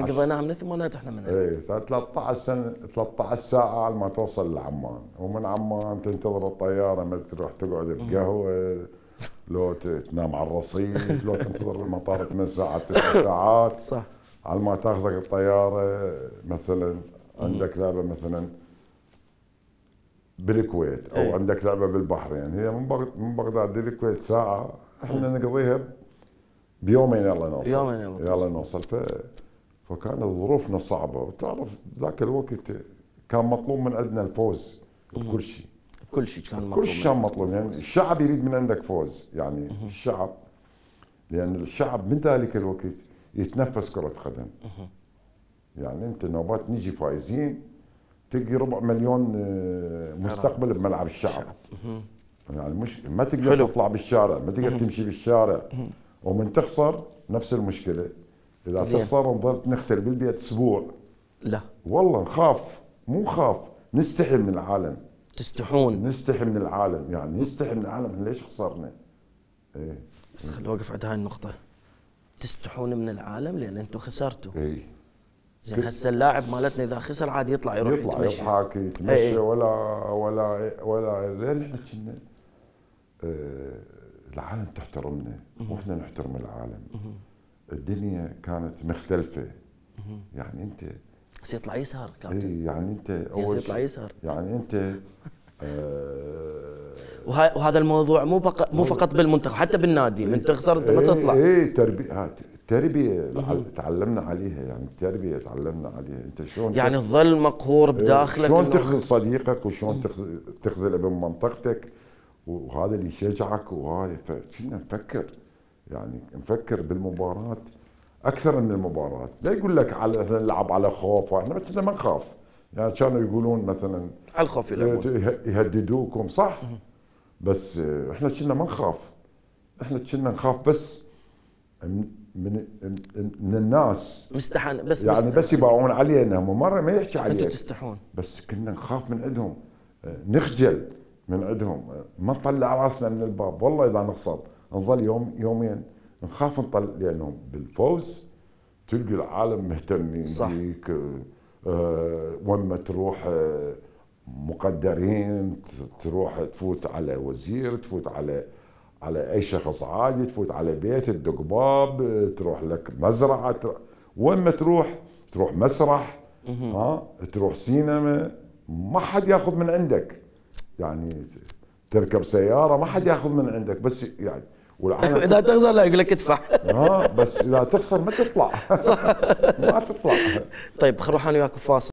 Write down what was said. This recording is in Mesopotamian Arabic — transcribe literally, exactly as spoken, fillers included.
قضيناها من الثمانينات احنا من اي ثلاثة عشر سنه ثلاثة عشر ساعه على ما توصل لعمان، ومن عمان تنتظر الطياره ما تروح تقعد بقهوه، لو تنام على الرصيف، لو تنتظر المطار ثمان ساعات تسع ساعات صح على ما تاخذك الطياره. مثلا عندك لعبه مثلا بالكويت او ايه. عندك لعبه بالبحرين، هي من بغداد من بغداد للكويت ساعه، احنا نقضيها بيومين يلا نوصل. يومين يلا, يلا نوصل. ف... فكانت ظروفنا صعبه، وتعرف ذاك الوقت كان مطلوب من عندنا الفوز بكل شيء. كل شيء كان مطلوب. كل شيء كان مطلوب، يعني الشعب يريد من عندك فوز، يعني مم. الشعب، لان الشعب من ذلك الوقت يتنفس كره قدم. مم. يعني انت نوبات نيجي فايزين تلقي ربع مليون مستقبل بملعب الشعب. مم. يعني مش ما تقدر حلو. تطلع بالشارع، ما تقدر تمشي بالشارع. مم. ومن تخسر نفس المشكله، اذا زين. تخسر نظل نختل بالبيت اسبوع. لا والله نخاف، مو نخاف، نستحي من العالم. تستحون؟ نستحي من العالم، يعني نستحي من العالم، ليش خسرنا؟ ايه بس خلي اوقف عند هاي النقطة، تستحون من العالم لان انتم خسرتوا. ايه زين هسه اللاعب مالتنا اذا خسر عاد يطلع يروح يطلع يتمشى، يضحك يتمشى. ايه. ولا ولا ولا لين احنا كنا اه العالم تحترمنا واحنا نحترم العالم. مه. الدنيا كانت مختلفة. مه. يعني انت بس يطلع يسهر كابتن. اي يعني انت اول يطلع يسهر، يعني انت آه وهذا الموضوع مو فقط مو فقط بالمنتخب، حتى بالنادي من تخسر انت ما تطلع. اي تربيه تربيه تعلمنا عليها، يعني التربيه تعلمنا عليها. انت شلون يعني تظل مقهور بداخلك، شلون تخذل صديقك وشلون تخذل ابن منطقتك، وهذا اللي يشجعك. وهاي فكنا نفكر، يعني نفكر بالمباراه اكثر من المباراه. لا يقول لك على نلعب على خوف، احنا كنا ما نخاف. يعني كانوا يقولون مثلا على الخوف يلعبون، يهددوكم صح، بس احنا كنا ما نخاف. احنا كنا نخاف بس من من الناس مستحن، بس يعني مستحن. بس يباعون علينا، هم مره ما يحكي عليك، انتم تستحون. بس كنا نخاف من عندهم، نخجل من عندهم، ما نطلع راسنا من الباب. والله اذا نخسر نظل يوم يومين نخاف نطلع، لانهم بالفوز تلقي العالم مهتمين بيك. أه وين ما تروح أه مقدرين، تروح تفوت على وزير، تفوت على على اي شخص عادي، تفوت على بيت تدق باب، تروح لك مزرعه، تروح وين ما تروح، تروح مسرح، ها تروح سينما، ما حد ياخذ من عندك. يعني تركب سياره ما حد ياخذ من عندك، بس يعني والعالم اذا تخسر لا يقول لك ادفع. ها بس اذا تخسر ما تطلع. ما تطلع. طيب خل نروح انا وياك فاصل.